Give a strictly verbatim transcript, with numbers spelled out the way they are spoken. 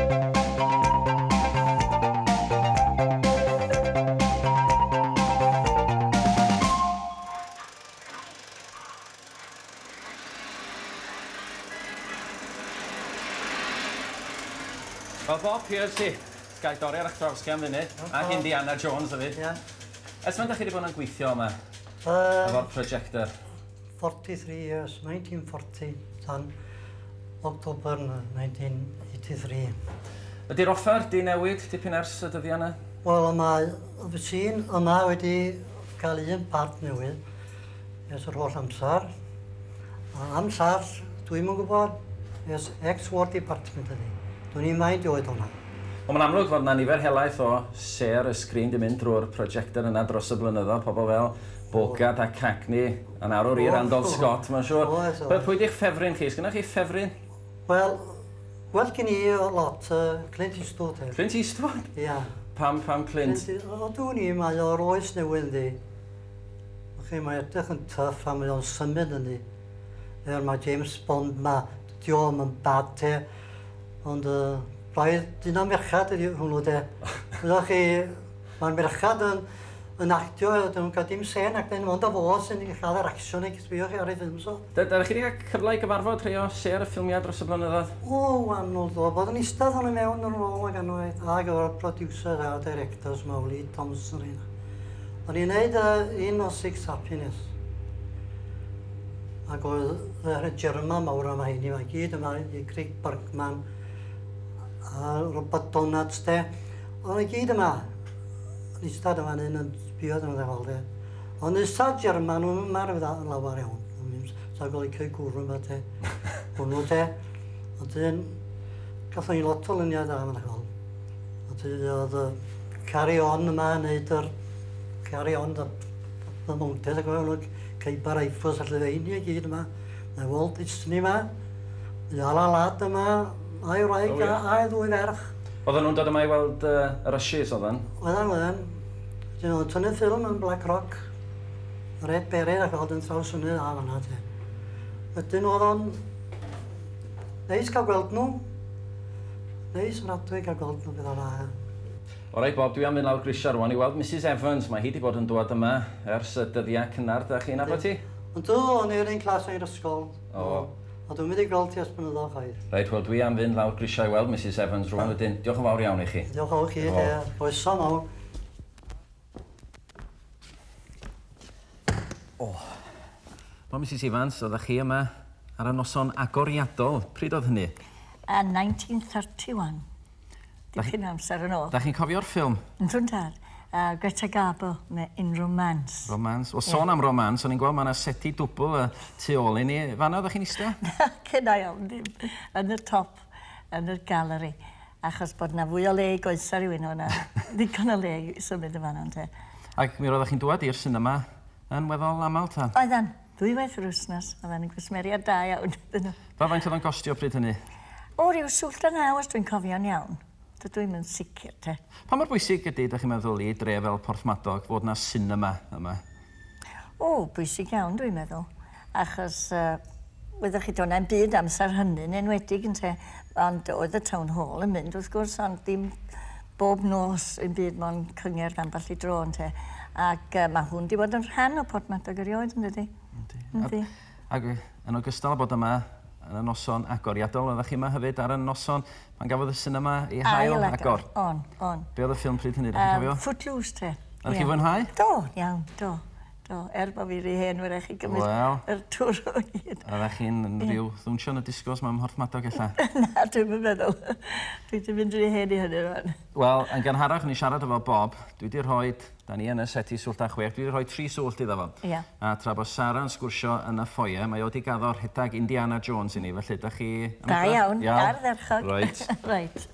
Wel, Bob Pierce, gai dorri ar eich traws chi am funud, ac Indiana Jones hefyd. Yeah. Ers faint dach chi wedi bod yn gweithio yma, Uh, efo'r projector? forty-three years, nineteen forty, tan October nineteen eighty-three. Ydy'r offer di newid dipyn ers y dyddiau yna? Wel, mae y machine yma wedi cael un part newydd ers yr holl amser. A am llall, dwi'm yn gwybod, ers ex-War Department ydy. Dwi'n i'n mind oed hwnna. Wel, mae'n amlwg fod yna nifer helaeth o sêr y sgrin di mynd drwy'r projector yna dros y blynyddoedd, pobl fel Bogart a Cagney, yn arwr i O, Randolph o. Scott, mae'n siŵr. Oes, oes. Pwy pwy di'ch ffefryn chi? Sgynnoch chi ffefryn? Wel, wel gen i o lot, uh, Clint Eastwood hefyd. Clint Eastwood? Ia. Pam, pam Clint? Clint, o, dwi'n i, mae o'r oes newydd yndi. Chi, mae edrych yn tough a mae o'n symud yndi. Er mae James Bond ma, di o'm yn bad te. Ond uh, braidd dyn o'n merchad ydi hwnnw de. Wyddoch chi, mae'r merchad yn, yn actio, dyn nhw'n cael dim sen ac dyn ond o fo sy'n cael yr action i sbio chi ar ei ffilm so. Ydych chi wedi cael cyfle i gyfarfod rhai o sêr y ffilmiau dros y blynyddoedd? O, wahanol do. Bod yn eistedd o'n i mewn yn ôl ag anwaith, ag o'r producer a directors ma, Lee Thompson un. O'n i'n neud uh, un o Six Happiness. Ac oedd yr German mawr yma hynny, mae gyd yma i Craig Bergman a Robert Donat de. O'n i gyd yma. O'n eistedd yma un yn sbio yn ddefol de. Ond eistedd German, o'n yma yn lawer iawn. Sa'n gweld i cael gwrw yma te. Hwnnw te. Ond un, gathon ni lot o luniau da yma'n chwel. Ond un oedd y Carry On yma yn neud yr Carry On, the, the Mountain, ac oedd nhw Khyber Rifles a llefeini i gyd yma. Mae Walt Disney yma, mae Alan Ladd yma, a'i wraig O, ie. a a'i ddwy ferch. Oedden nhw'n dod yma i weld uh, yr Rushes, oedden? Oedden, oedden. Dyn nhw'n tynnu ffilm yn Black Rock. Red Beret ac oedd yn trawsfynydd a fan'na te. Wedyn oedd o'n neis cael gweld nhw. Neis yn adwy cael gweld nhw beth o'na. O reit, Bob, dwi am fynd lawr grisiau rwan i weld Missus Evans. Mae hi wedi bod yn dŵad yma ers y dyddiau cynnar. Da chi'n nabod hi? Ond do, o'n i'r un clas yn yr ysgol. O. A dwi'n mynd i gweld ti ers blynyddoedd chwaith. Reit, wel, dwi am fynd lawr grisiau i weld Missus Evans rwan wedyn. Diolch yn fawr iawn i chi. Diolch o chi, Diolch. de. Croeso mawr. Wel, Missus Evans, oeddech chi yma ar y noson agoriadol. Pryd oedd hynny? Yn nineteen thirty-one. Dipyn o amser yn ôl. Da chi'n cofio'r ffilm? Yndw tad. Uh, Greta Garbo, neu In Romance. Romance. Wel, sôn am romance, o'n i'n gweld mae yna seti dwbl y tu ôl i ni. Fan'na oeddech chi'n eistedd? Cynna iawn, ddim. Yn y top, yn y galeri. Achos bod na fwy o le i goesa rhywun o'na. Ddigon o le i symud y fan'na, ynte. Ac mi roeddech chi'n dŵad i'r sinema yn weddol aml, ta? Oeddan, ddwywaith yr wythnos. Oeddan yn gwsmeriad da iawn. ydyn nhw. Fa faint oedd o'n gostio pryd hynny? O, ryw swllt a naw, os dwi'n cofio'n iawn. Dydw i'm yn sicr, te. Pa mor bwysig ydy, dach chi'n meddwl, i dre fel Porthmadog fod na sinema yma? O, bwysig iawn, dwi'n meddwl. Achos, uh, wyddoch chi, do'n na'm byd amser hynny'n enwedig, ynte. Ond oedd y Town Hall yn mynd, wrth gwrs, ond dim bob nos yn byd mo'n cyngerdd ambell i dro, ynte. Ac uh, mae hwn di bod yn rhan o Porthmadog erioed, yn dydi? Yndi. Yndi. Ac yn ogystal â bod yma yn y noson agoriadol, oeddech chi yma hefyd ar y noson pan gafodd y sinema ei hail agor. On, on. Be oedd y ffilm pryd hynny, dach chi'n Um, cofio? Footloose, te. Oeddech Ie. chi'n fwynhau? Do, iawn, do. Do, er bod fi rhy hen wrach i gymryd Wel. yr tŵr o hyd. Oeddech chi'n rhyw ddwnsio yn y disgos mewn Mhorthmadog ella? Na, dwi'm yn meddwl. Dwi wedi mynd rhy hen i hynny rwan. Wel, yn gynharach o'n i siarad efo Bob, dwi wedi rhoi, da ni yn y seti swllt a chwech, dwi wedi rhoi tri swllt iddo fo. Ia. A tra bod Sara'n sgwrsio yn y foyer, mae o wedi gaddo rhedag Indiana Jones i ni, felly da chi... am Da edrych? iawn, ardderchog. Reit. Reit.